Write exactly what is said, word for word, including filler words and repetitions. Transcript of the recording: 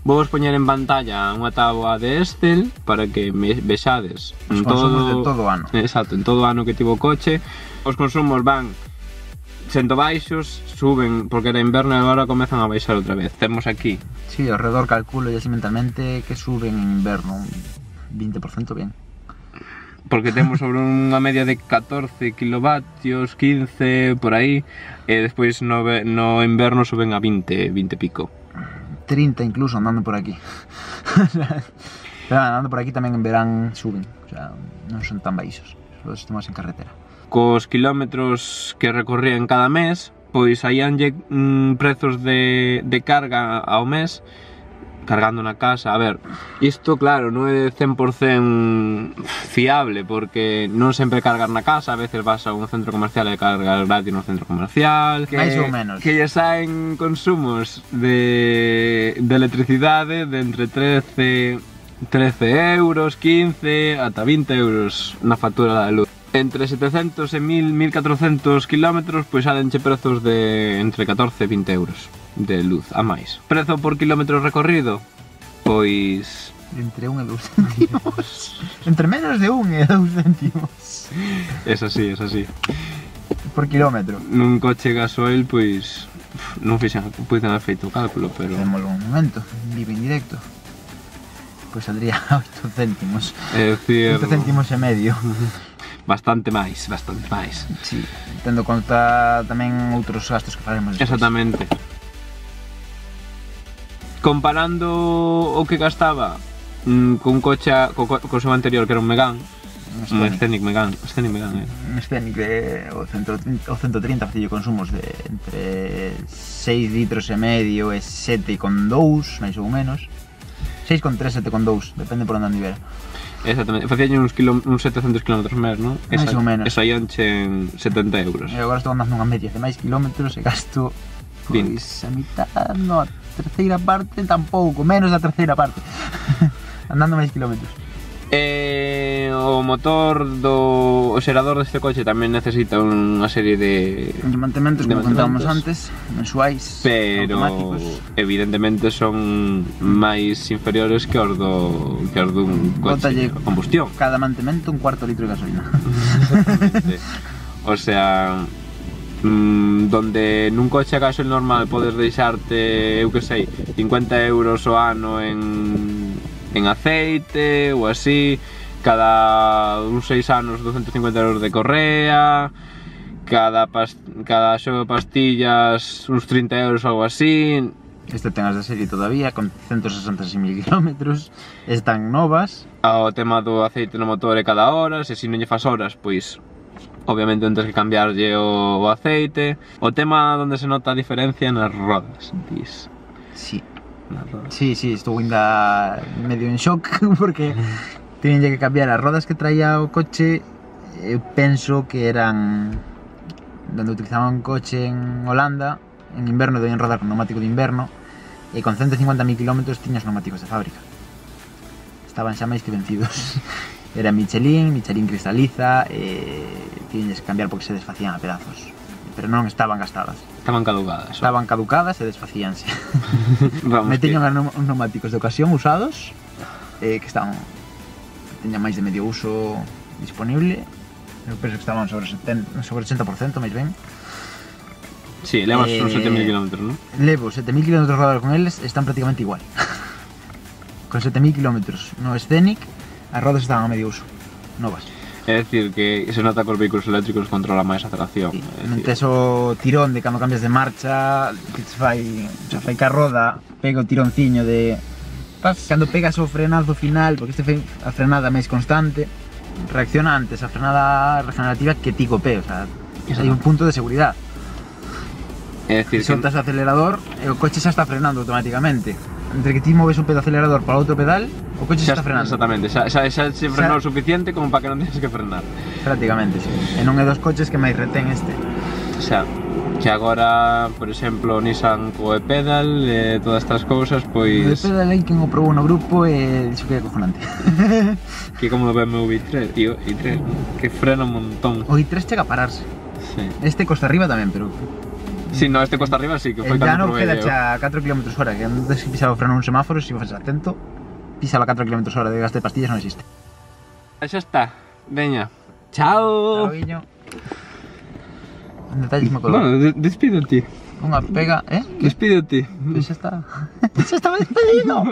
Vou vos poñer en pantalla unha táboa de Excel para que me vexades os consumos de todo o ano. Exacto, en todo o ano que tivo o coche. Os consumos van sendo baixos, suben porque era inverno e agora comezan a baixar outra vez. Temos aquí. Sí, ao redor calculo ya así mentalmente que suben en inverno un vinte por cento ben. Porque temos sobre unha media de catorce kilovatios, quince, por aí, e despois no, no inverno suben a vinte, vinte pico. trinta incluso andando por aquí. Pero andando por aquí tamén en verán suben, o sea, non son tan baixos, só estamos en carretera. Cos kilómetros que recorrían cada mes, pois saíanlle mm, prezos de, de carga ao mes, cargando na casa. A ver, isto claro, non é cen por cento fiable porque non sempre cargas na casa, a veces vas a un centro comercial e cargas gratis no centro comercial, que, máis ou menos, que lle saen consumos de, de electricidade de entre trece euros, quince, ata vinte euros na factura da luz. Entre setecentos e mil, mil catrocentos kilómetros, pois salenche prezos de entre catorce e vinte euros de luz a máis. Prezo por kilómetro recorrido, pois... entre un e dous céntimos. Entre menos de un e dous céntimos. Es así, es así. Por kilómetro. Nun coche gasoil, pois... non fixen, puiden haber feito o cálculo, pero... Facémolo un momento, vivo en directo. Pois saldría oito céntimos. É dicir... oito céntimos e medio. Bastante máis, bastante máis. Sí, tendo conta tamén outros gastos que faremos despois. Exactamente. Comparando o que gastaba mm, con coche, co, co seu anterior que era un Megane, un Scenic Megane, Scenic Megane era. Un Scenic de o ciento trinta facillo consumos de entre seis litros e medio e sete con dous, máis ou menos. seis con tres, sete con dous, depende por onde andivera. Exactamente, facíalle uns, kilo, uns setecentos kilómetros máis, non? Mais ou menos. E saíanche en setenta euros. E agora estou andando unha media de máis kilómetros e gasto, pois, a mitad, no, a terceira parte tampouco, menos da terceira parte. Andando máis kilómetros. E o motor do o xerador deste coche tamén necesita unha serie de, de mantementos, como contábamos antes, mensuais, pero automáticos. Evidentemente son máis inferiores que os do que os dun coche de combustión. Cada mantemento un cuarto litro de gasolina. Exactamente. O sea, mmm, donde nun coche a gasoil normal podes deixarte, eu que sei, cincuenta euros o ano en en aceite ou así, cada uns seis anos doscientos cincuenta euros de correa, cada, pas, cada xogo de pastillas uns trinta euros ou algo así. Este ten as de serie todavía, con ciento sesenta e seis mil kilómetros, están novas. O tema do aceite no motor é cada hora, se si non lle fas horas, pois obviamente tens que cambiarlle o, o aceite. O tema onde se nota a diferencia nas rodas, dis. Sí. Sí, sí, estou ainda medio en shock porque teñen que cambiar as rodas que traía o coche. Eu penso que eran donde utilizaban un coche en Holanda en inverno, debían rodar con neumático de inverno e con ciento cincuenta mil kilómetros tiñas neumáticos de fábrica, estaban xa máis que vencidos. Era Michelin, Michelin cristaliza e tiñes que cambiar porque se desfacían a pedazos, pero non estaban gastadas. Estaban caducadas. Estaban caducadas e desfacíanse. Me teño uns neumáticos de ocasión usados eh, que estaban, teñan máis de medio uso disponible. Eu penso que estaban sobre, setenta, sobre ochenta por cento, máis ben. Sí, levas eh, uns sete mil kilómetros, non? Levo sete mil kilómetros rodados con eles e están prácticamente igual. Con sete mil kilómetros no Scenic, as rodas estaban a medio uso, novas. É dicir, que se nota que os vehículos eléctricos controla máis a aceleración. Sí, non tes o tirón de cando cambias de marcha, que te fai, o fai que a roda pega o tironciño de... Cando pegas o frenazo final, porque este fai a frenada máis constante, reacciona antes a frenada regenerativa que ti co pé, o sea, hai un punto de seguridade. É dicir, que soltas o acelerador e o coche xa está frenando automáticamente. Entre que ti moves un pedo acelerador para outro pedal, o coche xa está frenando. Exactamente, xa, xa, xa se frenou o suficiente como para que non tens que frenar. Prácticamente, sí. E non é dos coches que máis retén este. Xa, que agora, por exemplo, Nissan co e-pedal e todas estas cousas, pois... O e-pedal aí quen o probou no grupo e dixo que é acojonante. Que como o B M W i tres, i tres, que frena un montón. O i tres chega a pararse. Sí. Este costa arriba tamén, pero Si no, este costa arriba sí, que foi El llano cando queda probei eu. a catro kilómetros hora, que antes que pisaba o freno un semáforo, se foses atento, pisa a catro kilómetros hora de gasto de pastillas non existe. Xa está, veña. Chao. Chao, guiño. Un detalle que me acordo. Bueno, de despídete. Unha pega, eh? Despídete. Pois xa está. Xa estaba despedido.